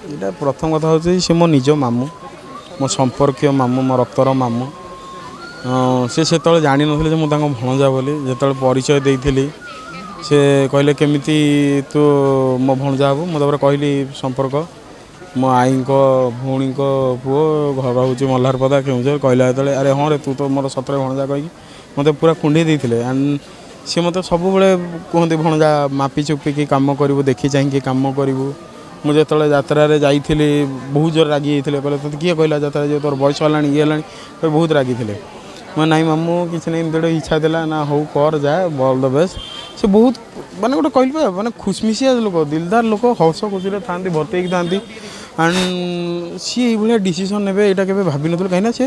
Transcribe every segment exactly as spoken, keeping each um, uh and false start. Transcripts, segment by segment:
ଏଇଟା ପ୍ରଥମ କଥା ହେଉଛି ସେ ମୋ ନିଜ ମାମୁଁ, ମୋ ସମ୍ପର୍କୀୟ ମାମୁଁ, ମୋ ରକ୍ତର ମାମୁଁ। ସେ ସେତେବେଳେ ଜାଣିନଥିଲେ ଯେ ମୁଁ ତାଙ୍କ ଭଣଜା ବୋଲି। ଯେତେବେଳେ ପରିଚୟ ଦେଇଥିଲି ସେ କହିଲେ କେମିତି ତୁ ମୋ ଭଣଜା ହେବୁ। ମୁଁ ତାପରେ କହିଲି ସମ୍ପର୍କ, ମୋ ଆଈଙ୍କ ଭଉଣୀଙ୍କ ପୁଅ, ଘର ହେଉଛି ମଲ୍ହାରପଦା କେଉଁଝର। କହିଲା ଯେତେବେଳେ ଆରେ ହଁ ରେ ତୁ ତ ମୋର ସତରେ ଭଣଜା କହିକି ମୋତେ ପୁରା କୁଣ୍ଢେଇ ଦେଇଥିଲେ। ଆଣ୍ଡ ସିଏ ମୋତେ ସବୁବେଳେ କୁହନ୍ତି ଭଣଜା ମାପି ଚୁପିକି କାମ କରିବୁ, ଦେଖି ଚାହିଁକି କାମ କରିବୁ। ମୁଁ ଯେତେବେଳେ ଯାତ୍ରାରେ ଯାଇଥିଲି ବହୁତ ଜୋର ରାଗି ଯାଇଥିଲେ, କହିଲେ ତୋତେ କିଏ କହିଲା ଯାତ୍ରା ଯିବ, ତୋର ବୟସ ହେଲାଣି ଇଏ ହେଲାଣି, ବହୁତ ରାଗିଥିଲେ। ମୁଁ ନାଇଁ ମାମୁଁ କିଛି ନାହିଁ, ଏମିତି ଗୋଟେ ଇଚ୍ଛା ଥିଲା ନା ହଉ କର ଯା, ଅଲ୍ the best. ସେ ବହୁତ ମାନେ ଗୋଟେ କହିଲି ପା ମାନେ ଖୁସମିସିଆ ଲୋକ, ଦିଲଦାର ଲୋକ, ହସ ଖୁସିରେ ଥାଆନ୍ତି, ଭର୍ତ୍ତି ହେଇକି ଥାଆନ୍ତି। ଆଣ୍ଡ ସିଏ ଏଇଭଳିଆ ଡିସିସନ୍ ନେବେ ଏଇଟା କେବେ ଭାବିନଥିଲୁ, କାହିଁକିନା ସେ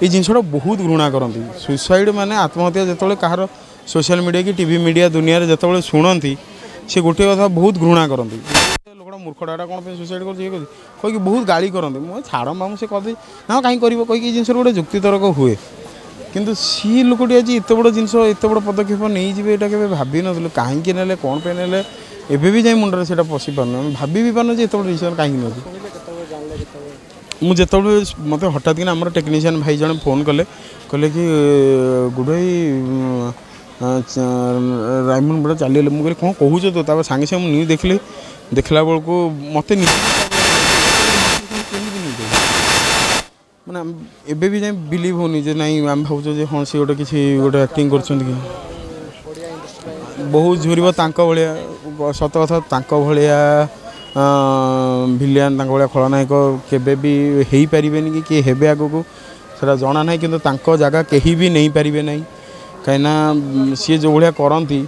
ଏଇ ଜିନିଷଟା ବହୁତ ଘୃଣା କରନ୍ତି। ସୁଇସାଇଡ଼୍ ମାନେ ଆତ୍ମହତ୍ୟା ଯେତେବେଳେ କାହାର ସୋସିଆଲ୍ ମିଡ଼ିଆ କି ଟିଭି ମିଡ଼ିଆ ଦୁନିଆରେ ଯେତେବେଳେ ଶୁଣନ୍ତି, ସେ ଗୋଟିଏ କଥା ବହୁତ ଘୃଣା କରନ୍ତି, ଲୋକଟା ମୂର୍ଖଟା ଏଟା କ'ଣ ପାଇଁ ସୁଇସାଇଡ଼୍ କରୁଛି ଇଏ କରୁଛି କହିକି ବହୁତ ଗାଳି କରନ୍ତି। ମୁଁ ଛାଡ଼ ମାମୁଁ ସେ କରିଦେଇ ନା କାହିଁ କରିବ କହିକି ଏଇ ଜିନିଷର ଗୋଟେ ଯୁକ୍ତିତର୍କ ହୁଏ। କିନ୍ତୁ ସିଏ ଲୋକଟି ଆଜି ଏତେ ବଡ଼ ଜିନିଷ ଏତେ ବଡ଼ ପଦକ୍ଷେପ ନେଇଯିବେ ଏଇଟା କେବେ ଭାବିନଥିଲୁ। କାହିଁକି ନେଲେ କ'ଣ ପାଇଁ ନେଲେ ଏବେ ବି ଯାଇ ମୁଣ୍ଡରେ ସେଇଟା ପଶି ପାରୁନି। ଆମେ ଭାବି ବି ପାରୁନୁ ଯେ ଏତେ ବଡ଼ ଡିସିସନ୍ କାହିଁକି ନେଉଛି। ମୁଁ ଯେତେବେଳେ ମୋତେ ହଠାତ୍ କିନା ଆମର ଟେକ୍ନିସିଆନ୍ ଭାଇ ଜଣେ ଫୋନ୍ କଲେ, କହିଲେ କି ଗୁଡ଼ୁ ଭାଇ ରାଇମୋହନ ବୁଢ଼ା ଚାଲିଗଲେ। ମୁଁ କହିଲି କ'ଣ କହୁଛ ତ? ତାପରେ ସାଙ୍ଗେ ସାଙ୍ଗେ ମୁଁ ନ୍ୟୁଜ୍ ଦେଖିଲି, ଦେଖିଲା ବେଳକୁ ମୋତେ କେମିତି ନ୍ୟୁଜ୍ ମାନେ ଏବେ ବି ଯାଇ ବିଲିଭ୍ ହେଉନି ଯେ ନାଇଁ ଆମେ ଭାବୁଛୁ ଯେ ହଁ ସିଏ ଗୋଟେ କିଛି ଗୋଟେ ଆକ୍ଟିଂ କରୁଛନ୍ତି କି। ବହୁତ ଝୁରିବ ତାଙ୍କ ଭଳିଆ, ସତ କଥା ତାଙ୍କ ଭଳିଆ ଭିଲିଆନ୍, ତାଙ୍କ ଭଳିଆ ଖଳନାୟକ କେବେ ବି ହେଇପାରିବେନି କି କିଏ ହେବେ ଆଗକୁ ସେଇଟା ଜଣା ନାହିଁ, କିନ୍ତୁ ତାଙ୍କ ଜାଗା କେହି ବି ନେଇପାରିବେ ନାହିଁ। କାହିଁକିନା ସିଏ ଯେଉଁ ଭଳିଆ କରନ୍ତି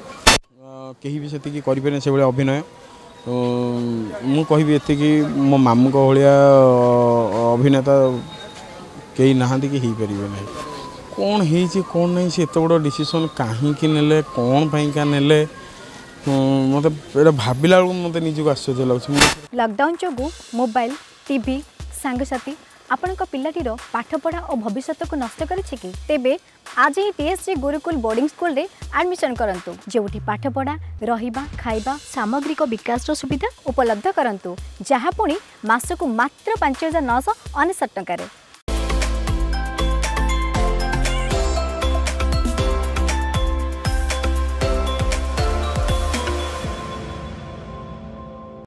କେହି ବି ସେତିକି କରିପାରିବେନି ସେଭଳିଆ ଅଭିନୟ। ମୁଁ କହିବି ଏତିକି, ମୋ ମାମୁଁଙ୍କ ଭଳିଆ ଅଭିନେତା କେହି ନାହାନ୍ତି କି ହେଇପାରିବେ ନାହିଁ। କ'ଣ ହେଇଛି କ'ଣ ନାହିଁ, ସେ ଏତେ ବଡ଼ ଡିସିସନ୍ କାହିଁକି ନେଲେ, କ'ଣ ପାଇଁକା ନେଲେ, ମୋତେ ଏଇଟା ଭାବିଲା ବେଳକୁ ମୋତେ ନିଜକୁ ଆଶ୍ଚର୍ଯ୍ୟ ଲାଗୁଛି। ଲକଡାଉନ୍ ଯୋଗୁଁ ମୋବାଇଲ, ଟିଭି, ସାଙ୍ଗସାଥି ଆପଣଙ୍କ ପିଲାଟିର ପାଠପଢ଼ା ଓ ଭବିଷ୍ୟତକୁ ନଷ୍ଟ କରିଛି କି? ତେବେ ଆଜି ହିଁ ଟିଏସ୍ଜି ଗୁରୁକୁଲ ବୋର୍ଡିଂ ସ୍କୁଲରେ ଆଡମିସନ୍ କରନ୍ତୁ, ଯେଉଁଠି ପାଠପଢ଼ା, ରହିବା, ଖାଇବା, ସାମଗ୍ରିକ ବିକାଶର ସୁବିଧା ଉପଲବ୍ଧ କରନ୍ତୁ, ଯାହା ପୁଣି ମାସକୁ ମାତ୍ର ପାଞ୍ଚ ହଜାର ନଅଶହ ଅନେଶତ ଟଙ୍କାରେ।